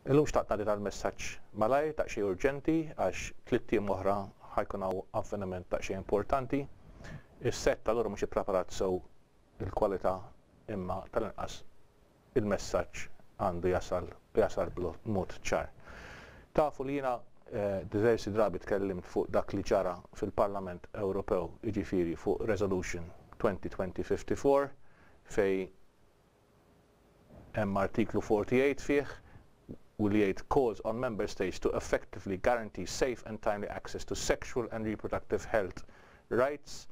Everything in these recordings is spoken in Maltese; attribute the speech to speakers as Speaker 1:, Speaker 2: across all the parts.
Speaker 1: Illum xtaqt ngħaddi dal-messaġġ malajr, daqsxejn urġenti, għax 3 ijiem oħra ħa jkun hawn avveniment daqsxejn importanti. Is-set allura mhux ippreparat sew il-kwalità, imma tal-inqas il-messaġġ għandu jasal u jasal b'mod ċar. Tafu li jiena diversi drabi tkellimt fuq dak li ġara fil-Parlament Ewropew, jiġifieri fuq Resolution 2020-54, fejn hemm artiklu 48 fih u li jgħid "calls on member states to effectively guarantee safe and timely access to sexual and reproductive health rights,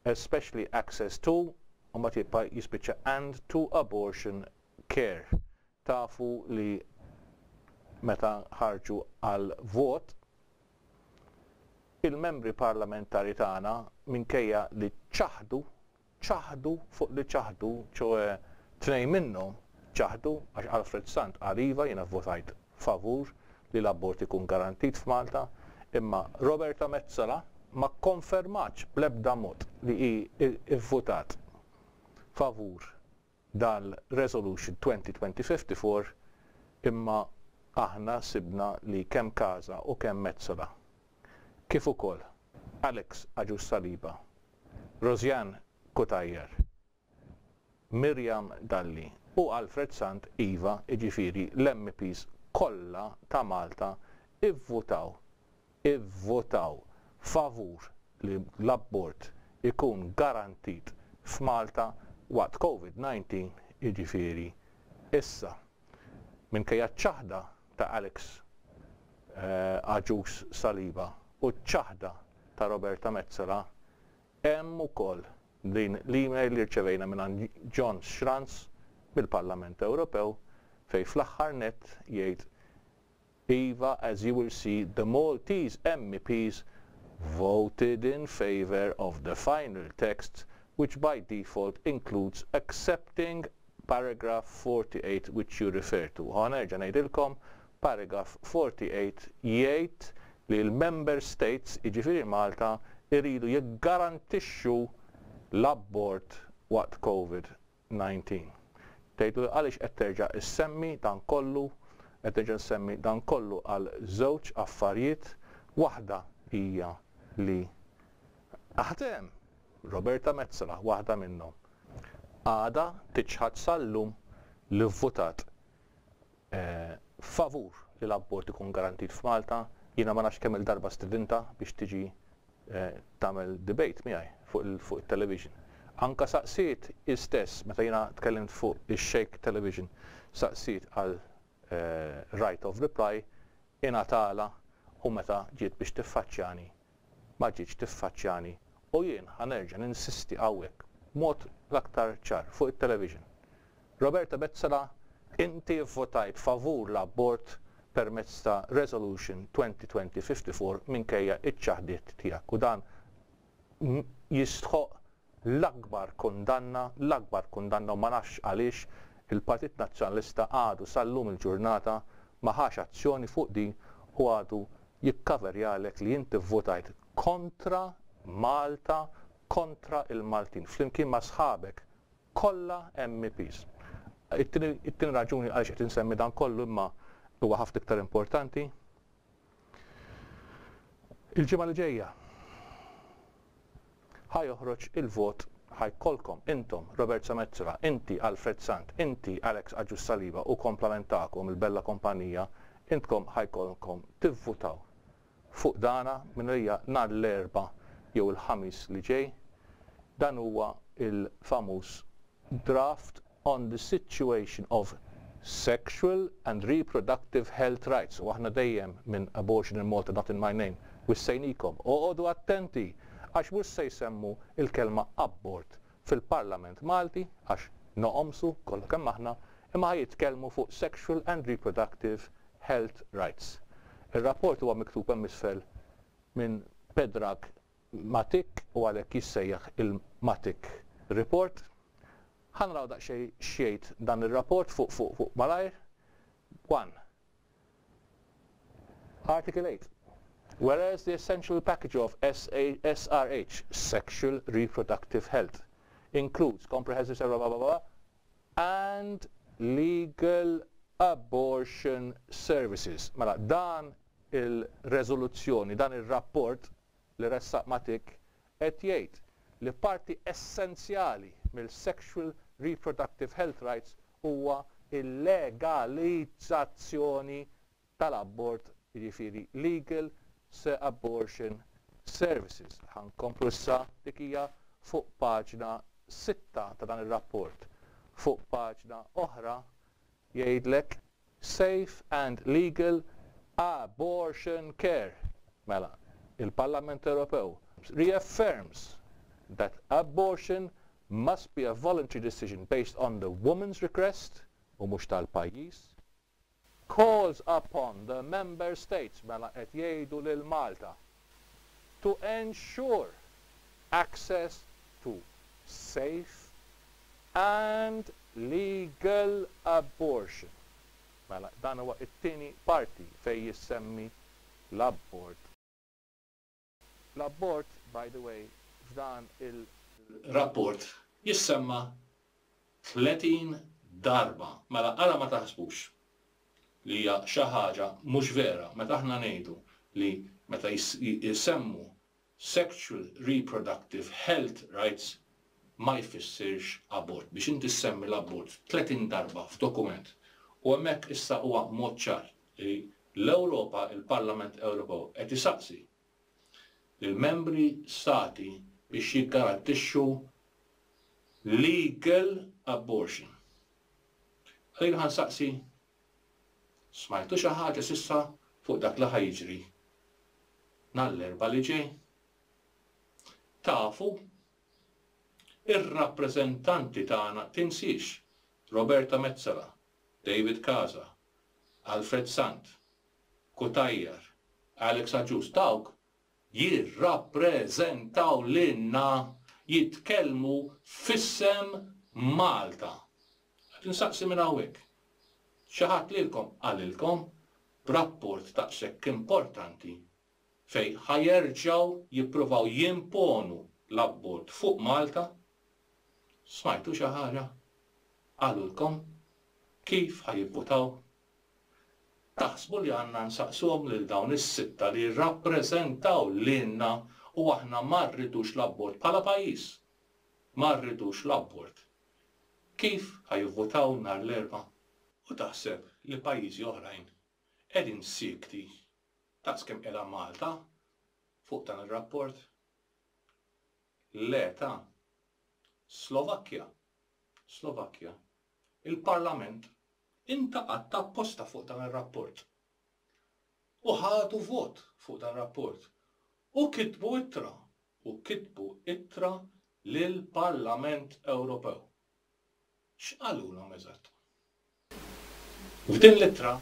Speaker 1: especially access to", u ma tibqa' jispiċċa, "and to abortion care". Tafu li meta ħarġu għal vot il-membri parlamentari tagħna, minkejja li ċaħdu, ċaħdu fuq li ċaħdu, ċoè tnejn minnhom ċaħdu, għax Alfred Sant qal: "Iva, jiena votajt favur li l-abort ikun garantit f'Malta", imma Roberta Metsola ma konfermatx bl-ebda mod li hi ivvutat favur dal-Resolution 2020-54. Imma aħna sibna li kemm Casa u kemm Metsola, kif ukoll Alex Agius Saliba, Rosianne Cutajar, Miriam Dalli u Alfred Sant, iva, jiġifieri l-MPs kollha ta' Malta ivvutaw favur li l-abort ikun garantit f'Malta waqt COVID-19, jiġifieri issa. Minkejja ċaħda ta' Alex Agius Saliba u ċaħda ta' Roberta Metsola, hemm ukoll din l-email li rċevejna minn John Schranz mill-Parlament Ewropew, fejn fl-aħħar net jgħid: "Iva, as you will see, the Maltese MEPs voted in favor of the final text, which by default includes accepting paragraph 48 which you refer to." Ħa nerġa' ngħidilkom, paragraph 48 jgħid li l-member states, jiġifieri Malta, iridu jiggarantixxu l-abort waqt COVID-19. Tgħidu għaliex qed terġa' issemmi dan kollu? Qed terġa' nsemmi dan kollu għal żewġ affarijiet. Waħda hija li aħdem Roberta Metsola, waħda minnhom, għadha tiċħad sal-lum li votat favur li l-abort ikun garantit f'Malta. Jiena ma nafx kemm il-darba stidintha biex tiġi tagħmel debate miegħi fuq il-television. Anka saqsiet istess meta jiena tkellimt fuq ix-Shake Television, saqsiet għal right of reply, ingħatalha, u meta ġiet biex tiffaċċjani ma ġietx tiffaċċjani. U jien ħa nerġa' ninsisti hawnhekk mod l-aktar ċar fuq it-television. Roberta Metsola, inti votajt favur l-abort permezz ta' Resolution 2020-54 minkejja iċ-ċaħdiet tiegħek, u dan jistħoq l-akbar kundanna, l-akbar kundanna, u ma nafx għaliex il-Partit Nazzjonalista għadu sal-lum il-ġurnata ma ħax azzjoni fuq din u għadu jikkaverjalek li inti votajt kontra Malta, kontra il-Maltin, flimkien ma' sħabek kollha MEPs. It-tieni raġuni għaliex qed insemmi dan kollu, imma huwa ħafna iktar importanti. Il-ġimgħa li ġejja ħa joħroġ il-vot, ħa jkollkom intom, Robert Metsola, inti Alfred Sant, inti Alex Agius Saliba u kumplament tagħkom il-bella kompanija, intkom ħa jkollkom tivvutaw fuq dana minn hija nhar l-Erbgħa jew il-Ħamis li ġej. Dan huwa il-famuż draft on the situation of sexual and reproductive health rights. U aħna dejjem minn Abortion in Malta Not in My Name wissejnikom. Oqogħdu attenti, għax mhux se jsemmu il-kelma abort fil-Parlament Malti, għax noqomsu kollha kemm aħna, imma jitkellmu fuq sexual and reproductive health rights. Ir-rapport huwa miktub hemm isfel minn Predrag Matic u għalhekk jissejjaħ il-Matic Report. Ħa naraw daqsxejn x'jgħid dan ir-rapport fuq malajr. 1. Article 8. Whereas the essential package of SA, SRH, sexual reproductive health, includes comprehensive blah, blah, blah, blah, and legal abortion services. Mela dan il-reżoluzzjoni, dan ir-rapport li ressaq Matic qed jgħid li parti essenzjali mill-sexual reproductive health rights huwa il-legalizzazzjoni tal-abort, jiġifieri legal abortion services. Ħa nkomplu issa, dik hija fuq paġna 6 ta' dan ir-rapport. Fuq paġna oħra jgħidlek safe and legal abortion care. Mela, il-Parlament Ewropew reaffirms that abortion must be a voluntary decision based on the woman's request u mhux tal-pajjiż, calls upon the member states, mela qed jgħidu lil Malta, to ensure access to safe and legal abortion. Mela dan huwa t-tieni parti fejn jissemmi l-abort. L-abort, by the way, f'dan il-rapport jissemma 30 darba. Mela ara ma taħsbux li hija xi ħaġa mhux vera meta aħna ngħidu li meta jsemmu sexual reproductive health rights ma jfissirx abort. Biex inti ssemmi l-abort 30 darba f'dokument u hemmhekk issa huwa mod ċar li l-Ewropa, il-Parlament Ewropew qed isaqsi lill-membri stati biex jiggarantixxu legal abortion. Għalina ħa nsaqsi, smajtu xi ħaġa s'issa fuq dak li ħa jiġri nhar l-Erbgħa li ġej? Tafu ir-rappreżentanti tagħna, tinsiex Roberta Metsola, David Casa, Alfred Sant, Cutajar, Alex Agius, dawk jirrappreżentaw lilna, jitkellmu f'isem Malta. Qed insaqsi minn hawnhekk. Xi ħadd lilkom qalilkom b'rapport daqshekk importanti fejn ħa jerġgħu jippruvaw jimponu l-abort fuq Malta? Smajtu xi ħaġa? Qalulkom kif ħa jivvutaw? Taħsbu li għandna nsaqsuhom lil dawn is-sitta li jirrappreżentaw lilna u aħna ma rridux l-abort bħala pajjiż? Ma rridux l-abort. Kif ħa jivvutaw nhar l-Erbgħa? U taħseb li pajjiżi oħrajn qegħdin siekti daqs kemm qiegħda Malta fuq dan ir-rapport? Le ta'. Slovakkja. Slovakkja. Il-Parlament intaqatt apposta fuq dan ir-rapport. U ħadu vot fuq dan ir-rapport. U kitbu ittra. U kitbu ittra lill-Parlament Ewropew. X'qalulhom eżatt? F'din l-ittra,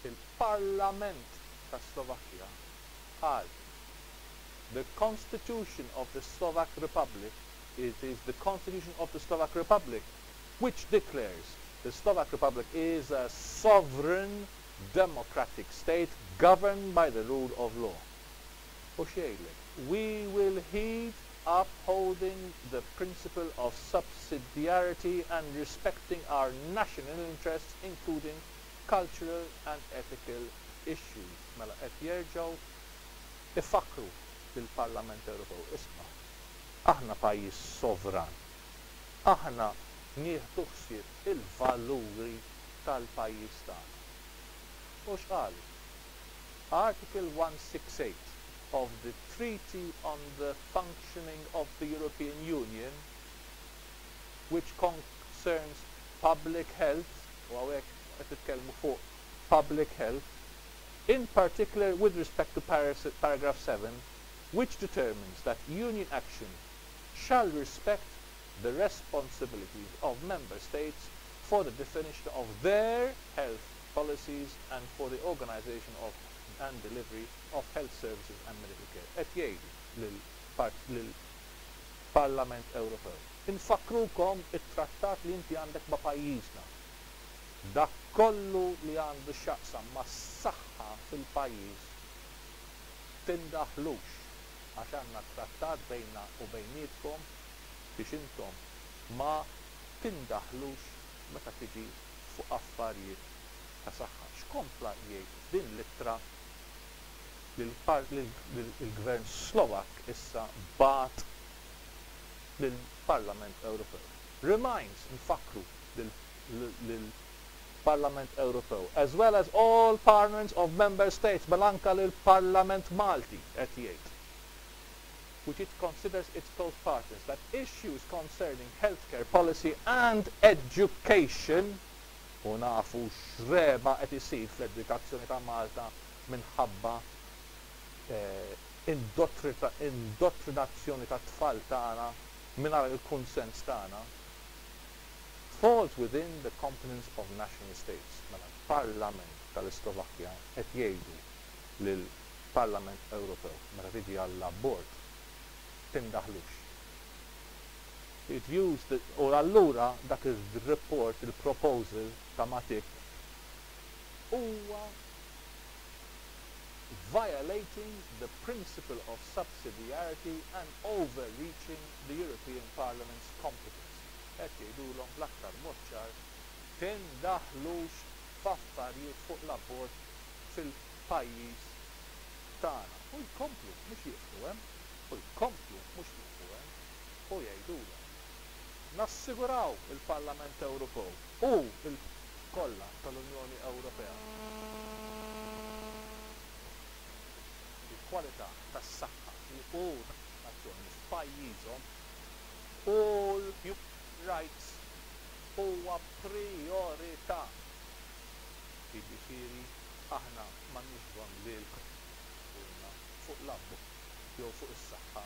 Speaker 1: il-Parlament tas-Slovakkja qal, The Constitution of the Slovak Republic, it is the Constitution of the Slovak Republic which declares the Slovak Republic is a sovereign democratic state governed by the rule of law. U x'jgħidlek? We will heed upholding the principle of subsidiarity and respecting our national interests, including cultural and ethical issues. Mela qed jerġgħu ifakkru lill-Parlament Ewropew, isma', aħna pajjiż sovran, aħna nieħdu ħsieb il-valuri tal-pajjiż tagħna. U x'qalu? Article 168 of the Treaty on the Functioning of the European Union, which concerns public health, u hawnhekk qed nitkellmu fuq public health, in particular with respect to paragraph 7, which determines that Union action shall respect the responsibilities of member states for the definition of their health policies and for the organization of and delivery of health services and medical care. Qed jgħidu lill-Parlament Ewropew, Infakkrukom it-trattat li inti għandek ma' pajjiżna. Dak kollu li għandu x'jaqsam mas-saħħa fil-pajjiż tindaħlux għax għandna trattat bejnna u bejnietkom biex intom ma tindaħlux meta tiġi fuq affarijiet. ta' saħħa. X'kompla jgħid f'din l-ittra li l-Gvern Slovakk issa bagħat lill-Parlament Ewropew? Reminds, nfakkru lill-Parlament Ewropew, as well as all parliaments of member states, mela anke lill-Parlament Malti qed jgħid, which it considers its close partners, that issues concerning healthcare policy and education, u nafu x'reba qed isir fl-edukazzjoni ta' Malta minħabba indottrinazzjoni tat-tfal tagħna mingħajr il-kunsens tagħna, falls within the competence of national states. Mela l-Parlament tal-Islovakkja qed jgħidu lill-Parlament Ewropew meta tiġi għall-abort tindaħlux. It views the, u allura dak ir-report, il-proposal ta' Matic huwa violating the principle of subsidiarity and overreaching the European Parliament's competence. Qed jgħidulhom bl-aktar mod ċar tindaħlux f'affarijiet fuq l-abort fil-pajjiż tagħna. U jkomplu mhux jieqfu hemm, u jkomplu mhux jieqfu hemm u jgħidulhom. Nassiguraw il-Parlament Ewropew u l-kollha tal-Unjoni Ewropea il-kwalità tas-saħħa u nazzjoni f'pajjiżhom u l-human rights huwa prijorità. Jiġifieri aħna m'għandniex bżonn lilkom tgħidulna fuq l-abort jew fuq is-saħħa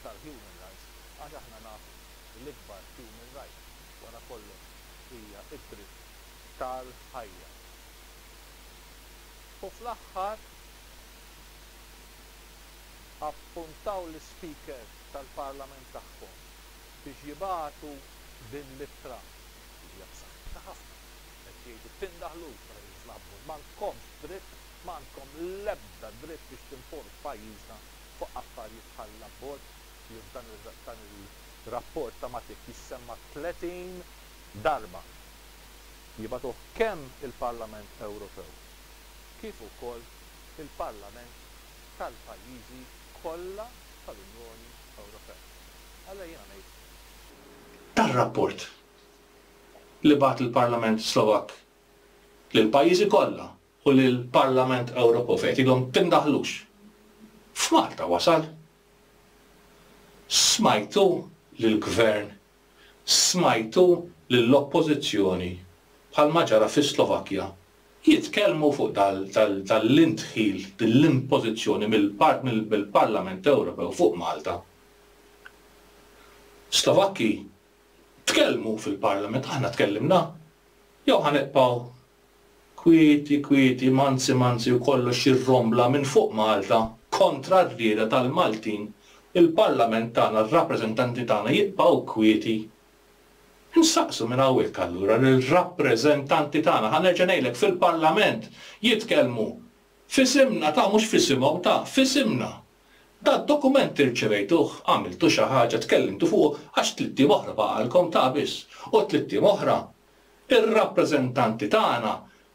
Speaker 1: tal-human rights għax aħna nafu li l-ikbar human right wara kollox hija d-dritt tal-ħajja. U fl-aħħar appuntaw l-Ispeaker tal-Parlament tagħhom biex jibagħtu din l-ittra li hija b'saħħitha ħafna. Qed jgħidu tindaħlux meta tiġu fl-abort, m'għandkomx dritt, m'għandkom l-ebda dritt biex timponu f'pajjiżna fuq affarijiet bħall-abort li f'dan il-rapport ta' Matic jissemma 30 darba. Jibagħtuh kemm il-Parlament Ewropew kif ukoll il-Parlament tal-pajjiżi kollha tal-Unjoni Ewropea. Allura jiena ngħid.
Speaker 2: Dar-rapport li bagħat il-Parlament Slovakk lill-pajjiżi kollha u lill-Parlament Ewropew fejn qed jgħidilhom tindaħlux. F'Malta wasal. Smajtu lill-Gvern, smajtu lill-Oppożizzjoni bħalma ġara fis-Slovakkja jitkellmu fuq dal-indħil, din l-impożizzjoni mill-Parlament Ewropew fuq Malta. Slovakki tkellmu fil-Parlament, aħna tkellimna? Jew ħa nibqgħu kwieti kwieti, manzi manzi u kollox jirrombla minn fuq Malta kontra r-rieda tal-Maltin, il-Parlament tagħna, r-rappreżentanti tagħna jibqgħu kwieti? Insaqsu minn hawnhekk allura lir-rappreżentanti tagħna, ħa nerġa' ngħidlek fil-Parlament jitkellmu f'isimna ta' mhux f'isimhom ta' f'isimna. Dad-dokument irċevejtuh, għamiltu xi ħaġa, tkellimtu fuqu għax tlitt ijiem oħra baqgħalkom ta' biss u tlitt ijiem oħra ir-rappreżentanti tagħna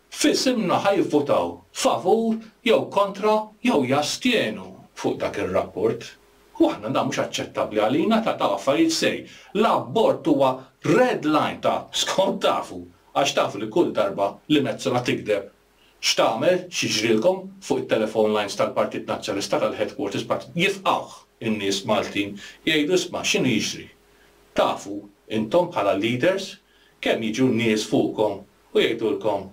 Speaker 2: f'isimna ħa jivvutaw favur jew kontra jew jastjenu fuq dak ir-rapport. U aħna dan mhux aċċettabbli għalina ta' dawn affarijiet serji. L-abort huwa red line ta' skont tafu għax tafu li kull darba li Metsola tigdeb x'tagħmel, x'jiġrilkom fuq it-telephone lines tal-Partit Nazzjonalista tal-headquarters Partit jifqgħuh in-nies Maltin jgħidu isma' x'inhu jiġri. Tafu intom bħala leaders kemm jiġu nies fuqkom u jgħidulkom,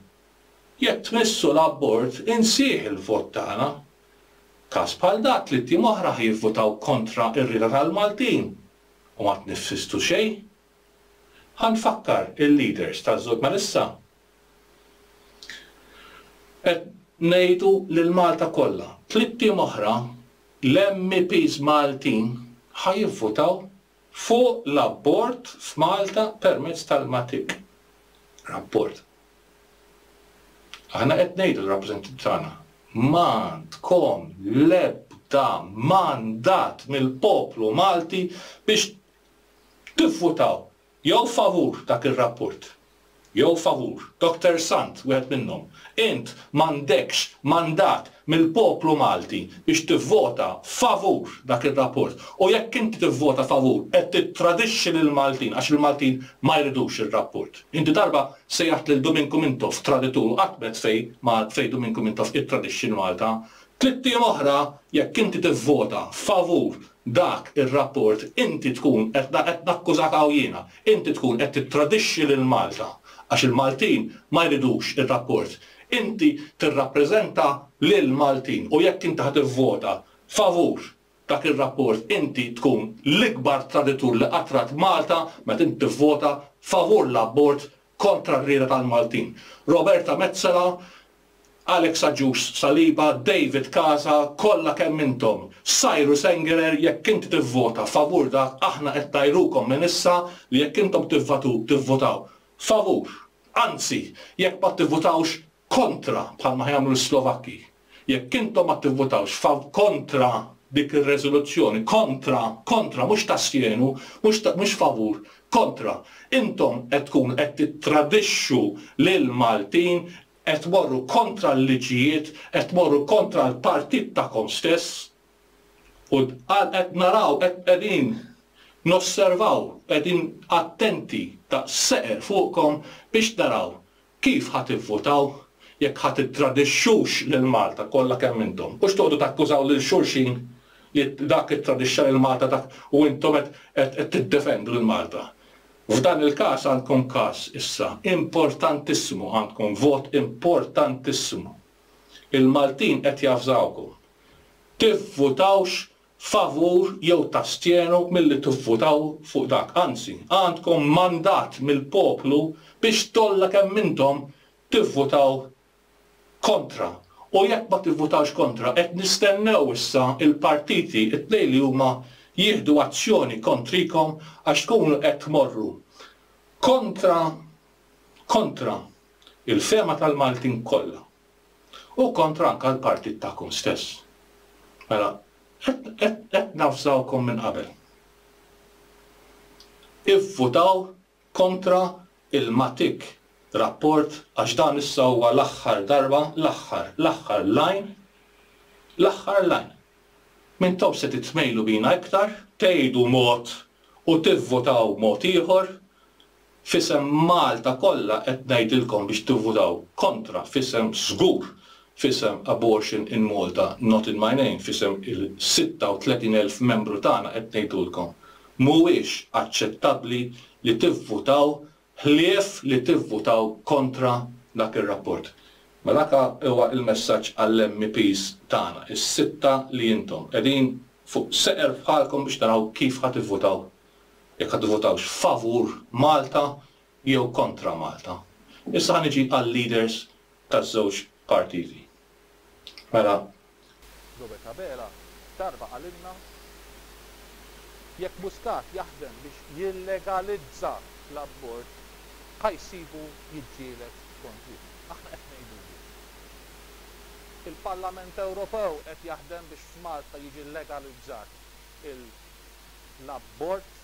Speaker 2: Jekk tmissu l-abort insih il-vot tagħna. Każ bħal dak li tim oħra ħa jivvutaw kontra r-rieda tal-Maltin u ma tniffistu xejn. Ħa nfakkar il-leaders taż-żewġ mela issa qed ngħidu lil Malta kollha, tlitt ijiem oħra l-MEPs Maltin ħa jivvutaw fuq l-abort f'Malta permezz tal-Matic Rapport. Aħna qed ngħidu lir-rappreżentanti tagħna, m'għandkom l-ebda mandat mill-poplu Malti biex tivvutaw jew favur dak ir-rapport. jew favur. Doctor Sant, wieħed minnhom. Int m'għandekx mandat mill-poplu Malti biex tivvota favur dak ir-rapport. U jekk inti tivvota favur qed tittradixxi lill-Maltin għax il-Maltin ma jridux ir-rapport. Inti darba sejjaħt lil Duminku Mintoff traditur u qatt m'għedt fejn fejn Duminku Mintoff ittradixxi 'l Malta. Tlitt ijiem oħra jekk inti tivvota favur dak ir-rapport inti tkun qed qed nakkużak hawn jiena, inti tkun qed tittradixxi lil Malta għax il-Maltin ma jridux ir-rapport. Inti tirrappreżenta lil Maltin u jekk inti ħa tivvota favur dak ir-rapport inti tkun l-ikbar traditur li qatt rat Malta meta inti tivvota favur l-abort kontra r-rieda tal-Maltin. Roberta Metsola, Alex Agius Saliba, David Casa, kollha kemm intom, Cyrus Engerer jekk inti tivvota favur dak aħna qed ngħajrukom minn issa li jekk intom tivvotaw favur, anzi jekk ma tivvotawx kontra bħalma ħa jagħmlu l-Slovakki, jekk intom ma tivvotawx kontra dik ir-reżoluzzjoni, kontra, kontra, mhux tastjenu, mhux mhux favur, kontra, intom qed tkunu qed tittradixxu lill-Maltin, qed tmorru kontra l-liġijiet, qed tmorru kontra l-partit tagħkom stess u qed naraw, qed qegħdin nosservaw, qegħdin attenti daqs seqer fuqkom biex naraw kif ħa tivvutaw, jekk ħa tittradixxux lil Malta kollha kemm intom. Mhux toqgħodu takkużaw lil xulxin li dak ittradixxa lil Malta dak u intom qed tiddefendu lil Malta. F'dan il-każ għandkom każ issa importantissimu, għandkom vot importantissimu. Il-Maltin qed javżawkom. Tivvutawx favur jew tastjenu milli tivvutaw fuq dak. Anzi, għandkom mandat mill-poplu biex tollha kemm intom tivvutaw kontra. U jekk ma tivvutawx kontra, qed nistennew issa l-partiti, it-tnejn li huma, jieħdu azzjoni kontrikom għax tkunu qed tmorru kontra kontra il-fehma tal-Maltin kollha u kontra anke l-partit tagħkom stess. Mela, qed navżawkom minn qabel. Ivvutaw kontra il-Matic rapport għax dan issa huwa l-aħħar darba, l-aħħar, l-aħħar line, l-aħħar line. M'intomx se titmejlu bina iktar, tgħidu mod u tivvutaw mod ieħor, F'isem Malta kollha qed ngħidilkom biex tivvutaw kontra f'isem żgur f'isem Abortion in Malta Not in My Name f'isem il-36,000 membru tagħna qed ngħidulkom mhuwiex aċċettabbli li tivvutaw ħlief li tivvutaw kontra dak ir-rapport. Mela dak huwa l-messaġġ għall-MEPs tagħna, is-sitta li intom. Qegħdin fuq seqer bħalkom biex naraw kif ħa tivvutaw jekk ħa tivvotawx favur Malta jew kontra Malta. Issa ħa niġi għal-leaders taż-żewġ partiti. Mela.
Speaker 1: Robert Abela darba qalilna jekk Muscat jaħdem biex jillegalizza l-abort ħa jsibu jiġġieled kontrih. Aħna qed ngħidulu. Il-Parlament Ewropew qed jaħdem biex f'Malta jiġi legalizzat il l-abort,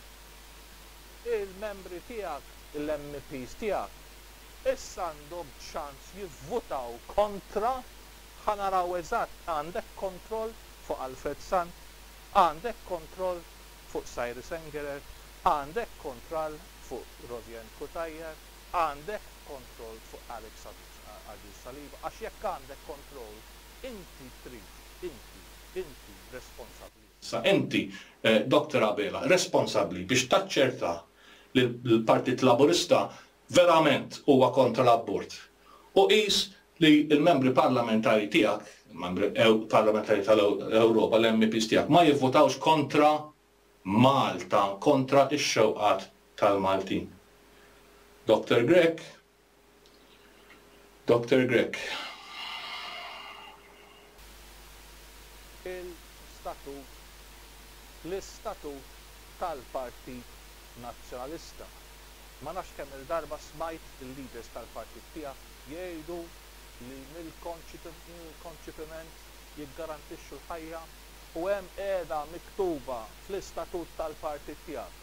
Speaker 1: il-membri tiegħek, il-MEPs tiegħek, issa għandhom ċans jivvutaw kontra, ħa naraw eżatt għandek kontroll fuq Alfred Sant, għandek kontroll fuq Cyrus Engerer, għandek kontroll fuq Rosianne Cutajar, għandek kontroll fuq Alex Agius Saliba, għax jekk għandek kontroll inti trid, inti, inti responsabbli.
Speaker 2: Issa inti, Doctor Abela, responsabbli biex taċċerta li l-Partit Laburista verament huwa kontra l-abort. U qis li l-membri parlamentari tiegħek, il-membri parlamentari tal-Ewropa, l-MEPs tiegħek, ma jivvotawx kontra Malta, kontra x-xewqat tal-Maltin. Doctor Grech, Doctor Grech.
Speaker 1: Il-statut, l-istatut tal-Partit Nazzjonalista. Ma nafx kemm-il darba smajt il-leaders tal-partit tiegħek jgħidu li mill-konċipiment jiggarantixxu l-ħajja u hemm qiegħda miktuba fl-istatut tal-partit tiegħek.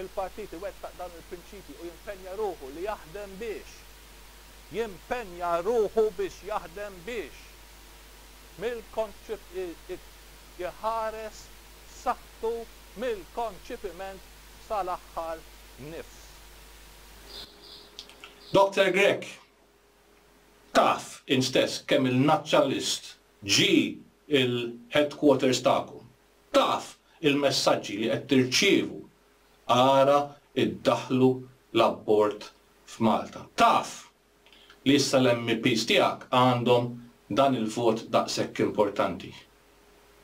Speaker 1: Il-partit iwettaq dawn il-prinċipji u jimpenja ruħu li jaħdem biex. jimpenja ruħu biex jaħdem biex mill-konċip iħares saħħtu mill-konċipiment sal-aħħar nifs.
Speaker 2: Doctor Grech, taf int stess kemm il-nazzjonalist ġie l-headquarters tagħkom. Taf il-messaġġi li qed tirċievu ara iddaħħlu l-abort f'Malta. Taf li issa l-MEPs tiegħek għandhom dan il-vot daqshekk importanti.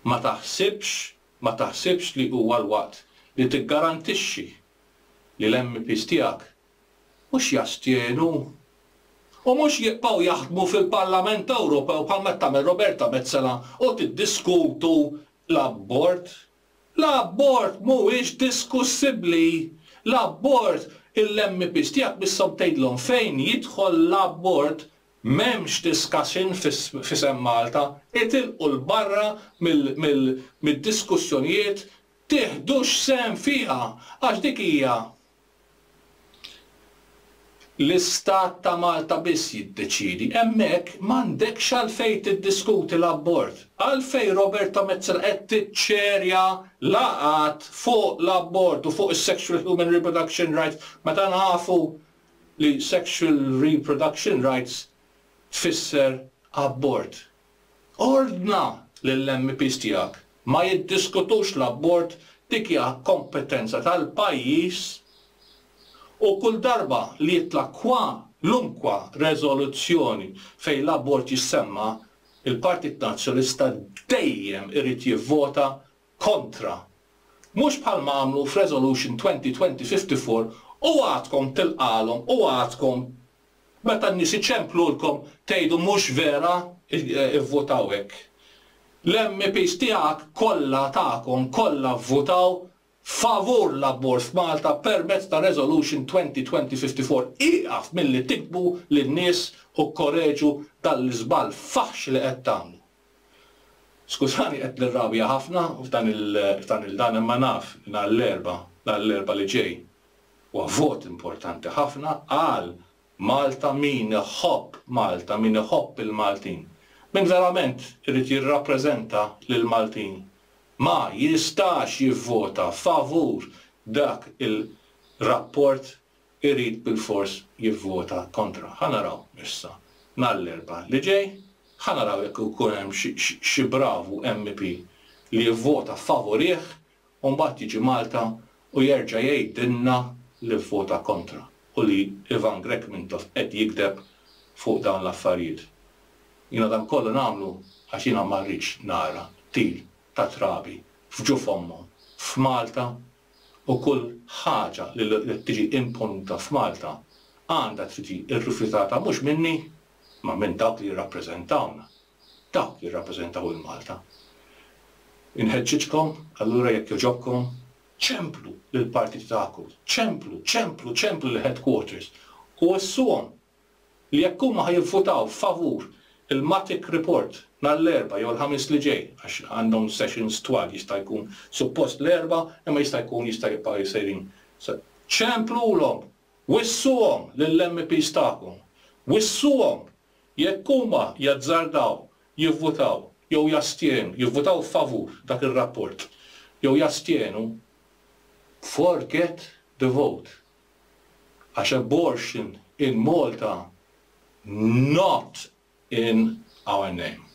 Speaker 2: Ma taħsibx, ma taħsibx li huwa l-waqt li tiggarantixxi li l-MEPs tiegħek mhux jastjenu u mhux jibqgħu jaħdmu fil-Parlament Ewropew bħalma qed tagħmel Roberta Metsola u tiddiskutu l-abort? L-abort mhuwiex diskussibbli. L-abort, il-MEPs tiegħek misshom tgħidlhom fejn jidħol l-abort m'hemmx discussion f'isem Malta, itilqu 'l barra mid-diskussjonijiet, tieħdux sehem fiha għax dik hija L-Istat ta' Malta biss jiddeċiedi. Hemmhekk m'għandekx għalfejn tiddiskuti l-abort. Għalfejn Roberta Metsola qed tiċċerja laqgħat fuq l-abort u fuq is-sexual human reproduction rights meta nafu li sexual reproduction rights tfisser abort. Ordna lill-MEPs tiegħek ma jiddiskutux l-abort, dik hija kompetenza tal-pajjiż u kull darba li jitla' kwalunkwa reżoluzzjoni fejn l-abort jissemma, il-Partit Nazzjonalista dejjem irid jivvota kontra. Mhux bħalma għamlu f'Resolution 2020-54 u għadkom tilqalhom u għadkom Meta n-nies iċemplulkom tgħidu mhux vera ivvutaw hekk. L-MEPs tiegħek kollha tagħkom kollha vvutaw favur l-abort f'Malta permezz ta' Resolution 2020-54. Ieqaf milli tiktbu lin-nies u kkoreġu dan l-iżball faħx li qed tagħmlu. Skużani qed nirrabja ħafna f'dan il f'dan il dan imma naf li nhar l-Erbgħa nhar l-Erbgħa li ġej Huwa vot importanti ħafna għal Malta, min iħobb Malta, min iħobb il-Maltin, min verament irid jirrappreżenta lill-Maltin ma jistax jivvota favur dak il-rapport irid bilfors jivvota kontra. Ħa naraw issa nhar l-Erbgħa li ġej, ħa naraw jekk ikun hemm xi bravu MEP li jivvota favurih u mbagħad jiġi Malta u jerġa' jgħidilna li vvota kontra u li Ivan Grech Mintoff qed jigdeb fuq dawn l-affarijiet. Jiena dan kollu nagħmlu għax jiena ma rridx nara qtil ta' trabi f'ġuf ommhom f'Malta u kull ħaġa li qed tiġi imponuta f'Malta għandha tiġi rrifjutata mhux minni imma minn dawk li jirrappreżentawna. Dawk jirrappreżentaw 'il Malta. Inħeġġiġkom, allura jekk jogħġobkom, ċemplu lill-partiti tagħkom, ċemplu, ċemplu, ċemplu lill-headquarters u wissuhom li jekk huma ħa jivvutaw favur il-Matic Report nhar l-Erbgħa jew il-Ħamis li ġej, għax għandhom sessions twal jista' jkun suppost l-Erbgħa imma jista' jkun jista' jibqgħu sejrin. Ċemplulhom, wissuhom lill-MEPs tagħkom, wissuhom Jekk huma jazzardaw jivvutaw jew jastjenu, jivvutaw favur dak ir-rapport jew jastjenu, forget the vote. Għax abortion in Malta not in our name.